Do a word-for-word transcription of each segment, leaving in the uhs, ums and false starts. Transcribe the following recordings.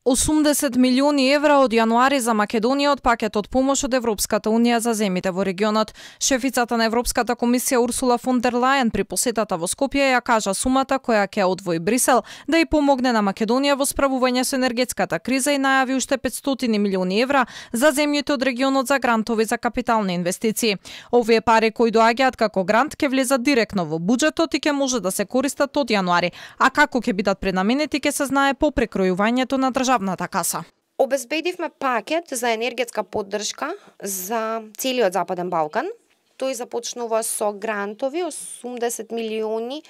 осумдесет милиони евра од јануари за Македонија од пакетот помош од Европската унија за земите во регионот. Шефицата на Европската комисија Урсула фон дер Лајен при посетата во Скопје ја кажа сумата која ќе одвои Брисел да ја помогне на Македонија во справување со енергетската криза и најави уште петстотини милиони евра за земјите од регионот за грантови за капитални инвестиции. Овие пари кои доаѓаат како грант ќе влезат директно во буџетот и ќе може да се користат од јануари, а како ќе бидат пренаменети ќе се знае по прекројувањето на државната каса. Обезбедивме пакет за енергетска поддршка за целиот Западен Балкан. Тој започнува со грантови осумдесет милиони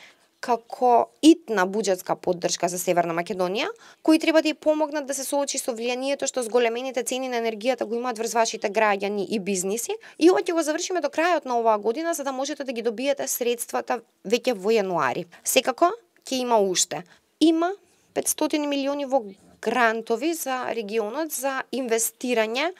како итна буџетска поддршка за Северна Македонија, кои треба да ја помогнат да се соочи со влијанието што зголемените цени на енергијата го имаат врз вашите граѓани и бизниси. И ова ќе го завршиме до крајот на оваа година за да можете да ги добиете средствата веќе во јануари. Секако ќе има уште. Има петстотини милиони во грантови за регионот за инвестирање.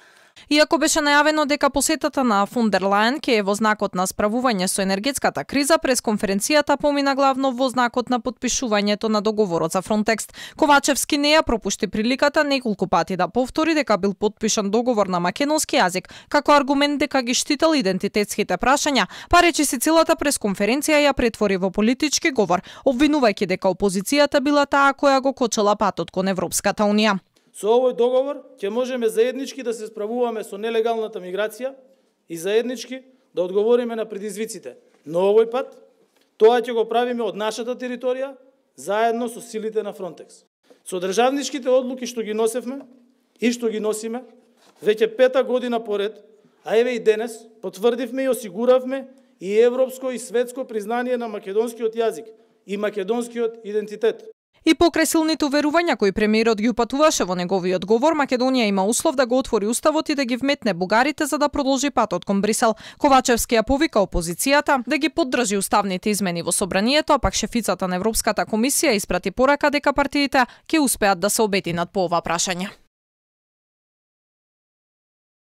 Иако беше најавено дека посетата на фон дер Лајен ќе е во знакот на справување со енергетската криза, през конференцијата помина главно во знакот на потпишувањето на договорот за Фронтекс. Ковачевски не ја пропушти приликата неколку пати да повтори дека бил потпишан договор на македонски јазик, како аргумент дека ги штител идентитетските прашања, па речиси целата пресконференција ја претвори во политички говор, обвинувајќи дека опозицијата била таа која го кочела патот кон Европската унија. Со овој договор ќе можеме заеднички да се справуваме со нелегалната миграција и заеднички да одговориме на предизвиците. Но овој пат тоа ќе го правиме од нашата територија заедно со силите на Фронтекс. Со државничките одлуки што ги носевме и што ги носиме веќе пета година поред, а еве и денес потврдивме и осигуравме и европско и светско признание на македонскиот јазик и македонскиот идентитет. И покрај силните уверувања кои премиерот ги упатуваше во неговиот говор, Македонија има услов да го отвори уставот и да ги вметне бугарите за да продолжи патот кон Брисел. Ковачевски ја повика опозицијата да ги поддржи уставните измени во собранието, а пак шефицата на Европската комисија испрати порака дека партиите ќе успеат да се обединат по ова прашање.